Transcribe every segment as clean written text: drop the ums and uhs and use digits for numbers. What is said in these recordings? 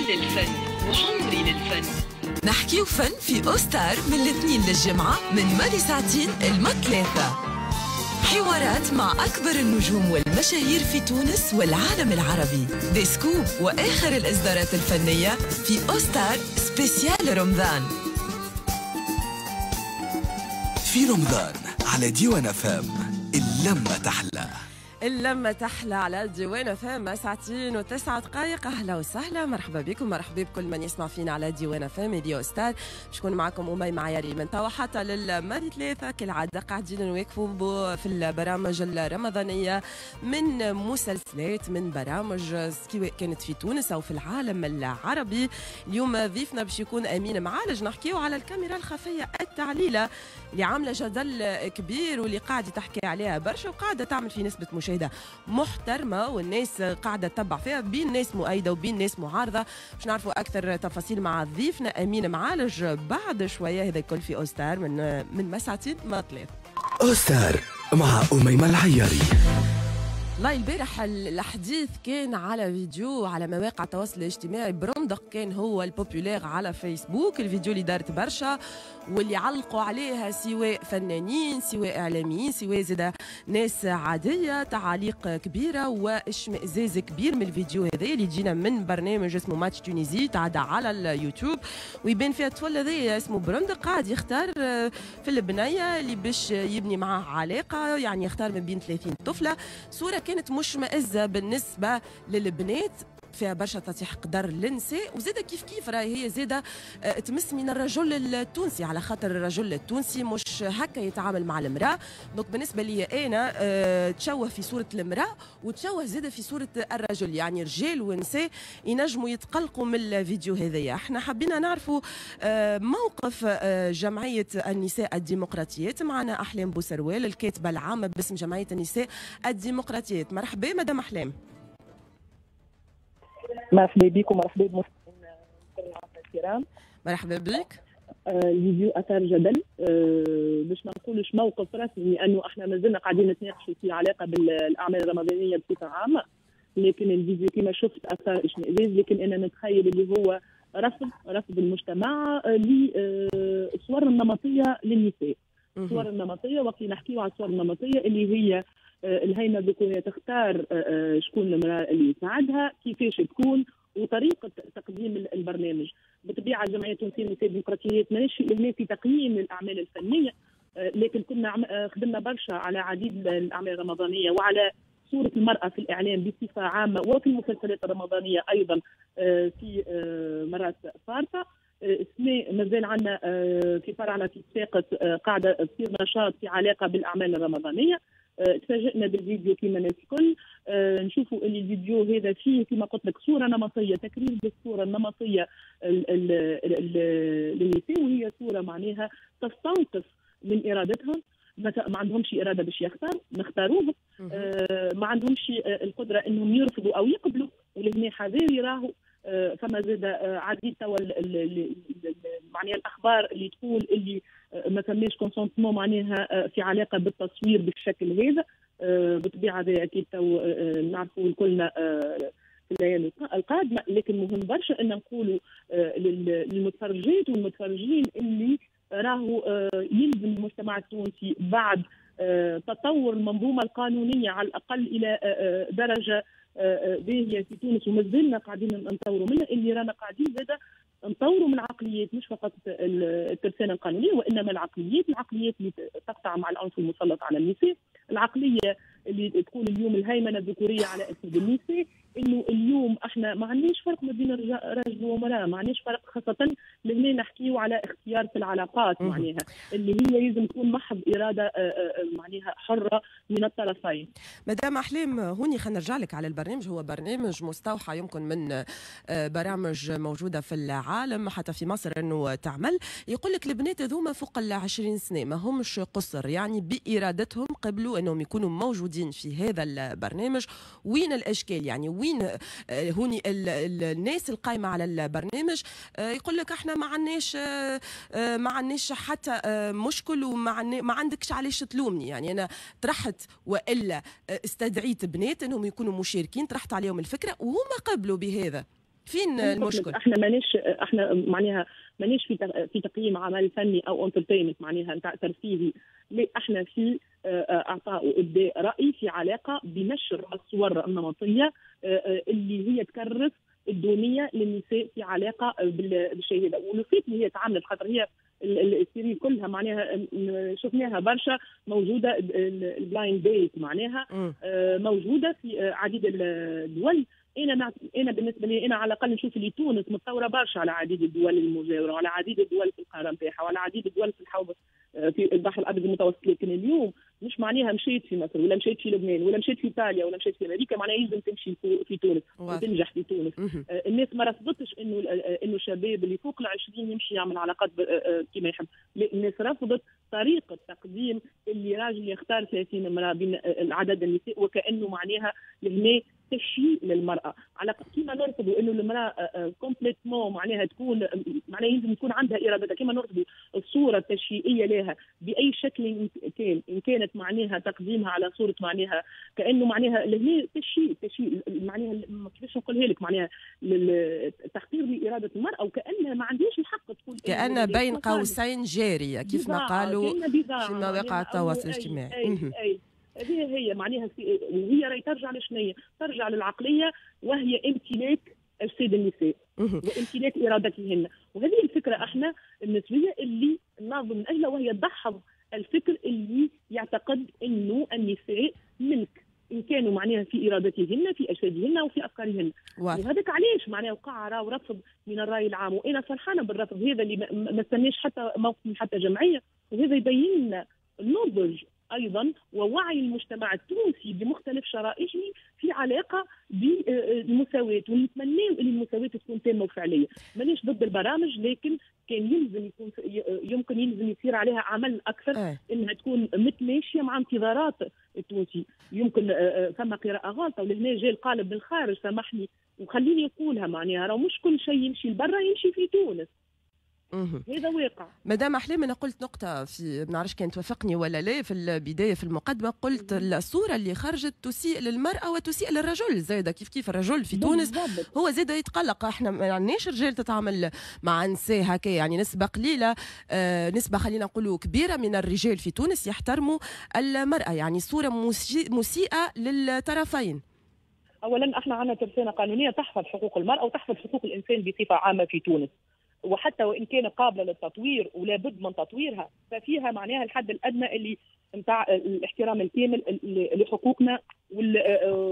للفن وعمري للفن. نحكيو فن في أوستار من الاثنين للجمعة من ماضي ساعتين لما 3. حوارات مع أكبر النجوم والمشاهير في تونس والعالم العربي، des scoops وآخر الإصدارات الفنية في أوستار spécial رمضان. في رمضان على ديوان أف أم اللمة تحلى. اللمة تحلى على ديوان أف أم ساعتين وتسعة دقائق. أهلا وسهلا، مرحبا بكم، مرحبا بكل من يسمع فينا على ديوان أف أم ديو ستار. باش نكون معكم أميمة عياري من توا حتى للماضي 3 كالعادة، قاعدين نواكبوا في البرامج الرمضانية من مسلسلات، من برامج سواء كانت في تونس أو في العالم العربي. اليوم ضيفنا باش يكون أمين معالج، نحكيو على الكاميرا الخفية التعليلة اللي عاملة جدل كبير واللي قاعدة تحكي عليها برشا وقاعدة تعمل في نسبة مشاهدة محترمة والناس قاعدة تتبع فيها، بين ناس مؤيدة وبين ناس معارضة. باش نعرفوا أكثر تفاصيل مع ضيفنا أمين معالج بعد شوية. هذا الكل في أوستار من مساعتين ما 3. أوستار مع أميمة العياري. والله البارح الحديث كان على فيديو على مواقع التواصل الاجتماعي، برندق كان هو ال populaire على فيسبوك، الفيديو اللي دارت برشا واللي علقوا عليها سواء فنانين سواء اعلاميين سواء زاد ناس عادية، تعاليق كبيرة واشمئزاز كبير من الفيديو هذا اللي جينا من برنامج اسمه Match Tunisie، تعدى على اليوتيوب ويبان فيها الطفل هذا اسمه برندق قاعد يختار في البنية اللي باش يبني معاه علاقة، يعني يختار من بين 30 طفله. صوره كانت مشمئزة بالنسبة للبنات، فيها برشا تطيح قدر للنساء، وزادة كيف كيف راهي هي زادة تمس من الرجل التونسي، على خاطر الرجل التونسي مش هكا يتعامل مع المرأة. donc بالنسبة لي أنا تشوه في صورة المرأة وتشوه زادة في صورة الرجل، يعني رجال ونساء ينجموا يتقلقوا من الفيديو هذايا. احنا حبينا نعرفوا موقف جمعية النساء الديمقراطيات. معنا أحلام بوسروال الكاتبة العامة باسم جمعية النساء الديمقراطيات. مرحبا مدام أحلام. مرحبا بك ومرحبا بمستمعين الكرام. مرحبا بك. الفيديو اثار جدل، باش ما نقولش موقف رسمي لانه احنا مازلنا قاعدين نتناقشوا في علاقة بالاعمال الرمضانية بصفة عامة، لكن الفيديو كما شفت اثار اشمئزاز، لكن انا نتخيل اللي هو رفض المجتمع للصور النمطية للنساء. الصور النمطية، وقت نحكيو على الصور النمطية اللي هي الهيمنة الذكورية تختار شكون المرأة اللي يساعدها، كيفاش تكون، وطريقة تقديم البرنامج. بالطبيعة الجمعية التونسية للنساء الديمقراطيات ماناش هنا في تقييم الأعمال الفنية، لكن كنا خدمنا برشا على عديد الأعمال الرمضانية وعلى صورة المرأة في الإعلام بصفة عامة وفي المسلسلات الرمضانية أيضا في مرات فارطة. السنة مازال عندنا في فرعنا في صفاقس قاعدة تصير نشاط في علاقة بالأعمال الرمضانية. تفاجئنا بالفيديو كما الناس الكل، نشوفوا اللي الفيديو هذا فيه كما قلت لك صوره نمطية، تكرير بالصورة النمطية للنساء، وهي صوره معناها تستنقص من ارادتهم، ما عندهمش اراده باش يختاروا، نختاروهم، ما عندهمش القدرة انهم يرفضوا او يقبلوا، ولهنا حذاري راهو فما زاد عديد توا معناها الاخبار اللي تقول اللي ما فماش consentement معناها في علاقة بالتصوير بالشكل هذا. بالطبيعة هذا اكيد تو نعرفوا الكلنا في الايام القادمة، لكن مهم برشا ان نقولوا للمتفرجات والمتفرجين اللي راهو يلزم المجتمع التونسي بعد تطور المنظومة القانونية على الاقل الى درجه باهيه في تونس، ومازلنا قاعدين نطوروا منها، اللي رانا قاعدين زاده نطوروا من العقليات، مش فقط الترسانه القانونية وانما العقليات، العقليات اللي تقطع مع العنف المسلط على النساء، العقلية اللي تقول اليوم الهيمنة الذكورية على اسد النساء، انه اليوم احنا ما عندناش فرق ما بين رجل ومراة، ما عندناش فرق، خاصة لهنا نحكيو على اختيار في العلاقات معناها اللي هي لازم تكون محض اراده معناها حره من الطرفين. مدام احلام هوني خلينا نرجع لك على البرنامج، هو برنامج مستوحى يمكن من برامج موجودة في العالم حتى في مصر انه تعمل. يقول لك البنات هذوما فوق ال 20 سنة ما همش قصر، يعني بارادتهم قبلوا انهم يكونوا موجودين في هذا البرنامج. وين الاشكال؟ يعني وين هوني الناس القايمة على البرنامج يقول لك احنا ما عندناش حتى مشكل وما عندكش علاش تلومني، يعني انا طرحت والا استدعيت بنات انهم يكونوا مشاركين، طرحت عليهم الفكرة وهما قبلوا بهذا. فين المشكل؟ احنا ماناش، احنا معناها ماناش في تقييم عمل فني او entertainment معناها نتاع ترفيهي، لا احنا في اعطاء وابداء راي في علاقة بنشر الصور النمطية اللي هي تكرس الدونيه للنساء في علاقة بالشيء هذا. ولفيت اللي هي تعملت خاطر هي ال série كلها معناها شفناها برشا موجودة، ال blind date معناها موجودة في عديد الدول. انا بالنسبة لي انا على الاقل نشوف اللي تونس متطورة برشا على عديد الدول المجاورة وعلى عديد الدول في القارة نتاعها وعلى عديد الدول في الحوض في البحر الابيض المتوسط. لكن اليوم مش معناها مشيت في مصر ولا مشيت في لبنان ولا مشيت في ايطاليا ولا مشيت في امريكا معناها يلزم تمشي في تونس وتنجح في تونس. الناس ما رفضتش انه الشباب اللي فوق 20 يمشي يعمل علاقات كما يحب، الناس رفضت طريقه تقديم اللي راجل يختار 30 امراة بين عدد النساء وكانه معناها لهنا تشييء للمراة. على كيما نرفضوا انه المراة complètement معناها تكون معناها يلزم يكون عندها ارادتها، كيما نرفضوا الصورة التشييئيه لها باي شكل كان، ان كانت معناها تقديمها على صوره معناها كانه معناها لهنا تشييء معناها كيفاش نقولها لك معناها تحقير لارادة المراة وكانها ما عندهاش الحق تقول، كأن بين قوسين جارية كيف ما قالوا في مواقع التواصل الاجتماعي. أي هذه هي معناها، وهي راهي ترجع لشنية؟ ترجع للعقلية وهي امتلاك أجساد النساء وامتلاك إرادتهن. وهذه الفكرة احنا النسوية اللي نناضل من أجلها، وهي دحض الفكر اللي يعتقد أنه النساء ملك إن كانوا معناها في إرادتهن في أجسادهن وفي أفكارهن. وهذاك علاش معناها وقع راهو رفض من الرأي العام، وأنا فرحانة بالرفض هذا اللي ما استناش حتى موقف من حتى جمعية، وهذا يبين لنا النضج ايضا ووعي المجتمع التونسي بمختلف شرائحه في علاقة بالمساواة، ونتمناو ان المساواة تكون تامة وفعليه. مانيش ضد البرامج، لكن كان يلزم يكون يمكن يلزم يصير عليها عمل اكثر انها تكون متماشيه مع انتظارات التونسي. يمكن ثم قراءة غلطه، ولهنا جاء القالب من الخارج، سامحني وخليني نقولها معناها راه مش كل شيء يمشي لبرا يمشي في تونس. هذا واقع. مدام أحلام، أنا قلت نقطة في ما نعرفش كان توافقني ولا لا، في البداية في المقدمة قلت الصورة اللي خرجت تسيء للمرأة وتسيء للرجل زايدة، كيف كيف الرجل في تونس هو زايدة يتقلق. احنا ما عندناش رجال تتعامل مع نساء هكا، يعني نسبة قليلة، نسبة خلينا نقولوا كبيرة من الرجال في تونس يحترموا المرأة، يعني صورة مسيئة للطرفين. أولا احنا عندنا ترسانة قانونية تحفظ حقوق المرأة وتحفظ حقوق الإنسان بصفة عامة في تونس، وحتى وان كانت قابله للتطوير ولا بد من تطويرها، ففيها معناها الحد الادنى اللي نتاع الاحترام الكامل لحقوقنا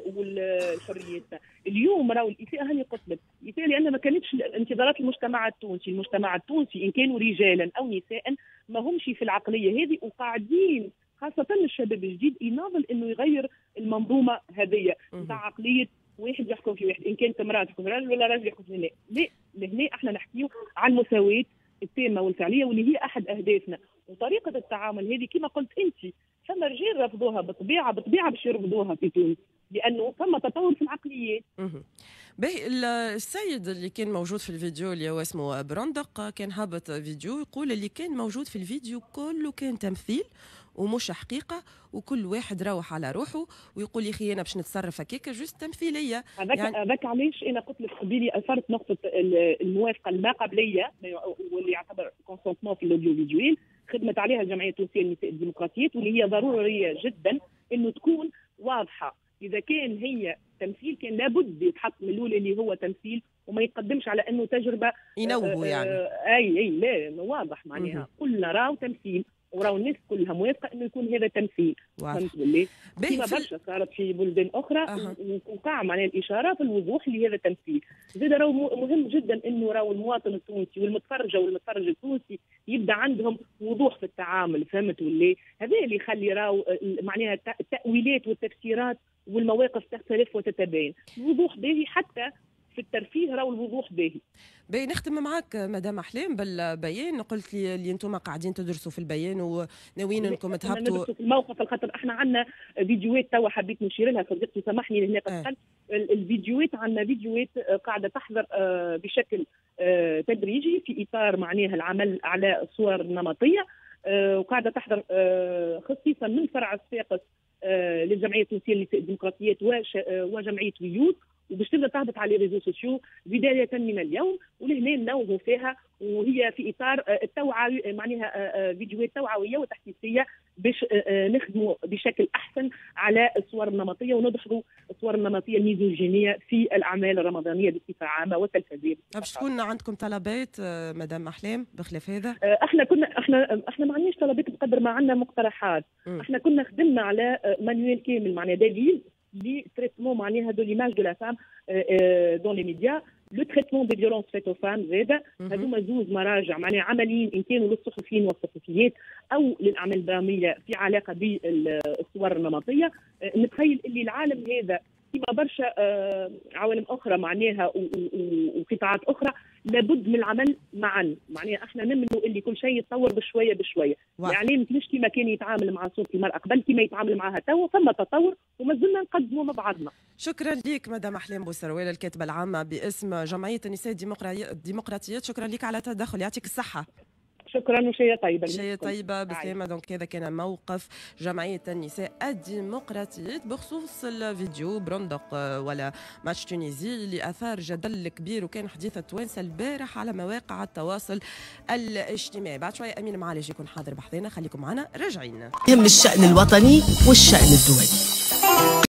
والحرياتنا. اليوم راهو الاساءة هاني قلت لك الاساءة لان ما كانتش انتظارات المجتمع التونسي، المجتمع التونسي ان كانوا رجالا او نساء ما همش في العقلية هذه، وقاعدين خاصة الشباب الجديد يناضل انه يغير المنظومة هذه نتاع عقلية واحد يحكم في واحد، ان كانت امراة تحكم في رجل ولا رجل يحكم في لا. لا، لهنا احنا نحكيو عن المساواة التامة والفعلية واللي هي احد اهدافنا. وطريقه التعامل هذه كما قلت انت فما رجال رفضوها بالطبيعة باش يرفضوها في تونس، لانه فما تطور في العقليات. باهي، السيد اللي كان موجود في الفيديو اللي هو اسمه برندق كان هابط فيديو يقول اللي كان موجود في الفيديو كله كان تمثيل ومش حقيقة، وكل واحد روح على روحه ويقول يا اخي انا باش نتصرف هكاك juste تمثيلية. هذاك يعني علاش انا قلت لك قبيلي اثرت نقطة الموافقة الما قبليه واللي يعتبر consentement في l'audiovisuel، خدمت عليها الجمعية التونسية للنساء الديمقراطيات، واللي هي ضرورية جدا انه تكون واضحة. اذا كان هي تمثيل كان لابد يتحط من الاول اللي هو تمثيل وما يقدمش على انه تجربه ينوهوا يعني. اي لا واضح معناها قلنا راهو تمثيل وراو الناس كلها موافقة انه يكون هذا تمثيل. فهمت ولا؟ كيما برشا صارت في بلدان اخرى وقع معناها الاشارة في الوضوح لهذا التمثيل. زاد راهو مهم جدا انه راهو المواطن التونسي والمتفرجه والمتفرج التونسي يبدا عندهم وضوح في التعامل، فهمت ولا؟ هذا اللي يخلي راهو معناها التاويلات والتفسيرات والمواقف تختلف وتتباين. الوضوح باهي حتى في الترفيه، راهو الوضوح باهي. باهي، نختم معاك مدام احلام بالبيان. قلت لي اللي انتم قاعدين تدرسوا في البيان وناويين انكم تهبطوا في الموقف، خاطر احنا عندنا فيديوهات توا حبيت نشير لها صديقتي، سامحني لهنا قد الفيديوهات، عندنا فيديوهات قاعدة تحضر بشكل تدريجي في اطار معناها العمل على الصور النمطية، وقاعدة تحضر خصيصا من فرع الصفاقس للجمعية التونسية للنساء الديمقراطيات وجمعية ويوت، وباش تبدا تهبط على les réseaux sociaux بداية من اليوم، ولهنا ننوهوا فيها، وهي في اطار التوعية، معناها فيديوهات توعوية وتحسيسيه باش نخدموا بشكل احسن على الصور النمطية وندحضوا الصور النمطية الميزوجينيه في الاعمال الرمضانية بصفة عامة والتلفزيون. باش تكون عندكم طلبات مدام احلام بخلاف هذا؟ احنا كنا احنا احنا ما عندناش طلبات بقدر ما عندنا مقترحات. احنا كنا خدمنا على manuel كامل، معناها دليل ل traitement معناها de l'image de la femme dans les médias، le traitement des violences faites aux femmes زاده. هذوما زوز مراجع معناها عمليين، ان كانوا للصحفيين والصحفيات او للاعمال الدرامية في علاقة بالصور النمطية. نتخيل اللي العالم هذا كما برشا عوالم اخرى معناها وقطاعات اخرى لابد من العمل معا. معناها احنا نمنوا اللي كل شيء يتطور بشوية بشويه. الاعلام مش كما كان يتعامل مع صوره المراة قبل كما يتعامل معها توا، فما تطور وما زلنا نقدموا مع بعضنا. شكرا لك مدام احلام بوسروال، الكاتبة العامة باسم جمعية النساء الديمقراطيات، شكرا لك على التدخل، يعطيك الصحة. شكرا وشهية طيبة. شهية طيبة، بسلامة. donc هذا كان موقف جمعية النساء الديمقراطيات بخصوص الفيديو برندق ولا Match Tunisie اللي أثار جدل كبير وكان حديث التوانسة البارح على مواقع التواصل الاجتماعي. بعد شوية أمين معالج يكون حاضر بحذانا، خليكم معنا راجعين. يهم الشأن الوطني والشأن الدولي.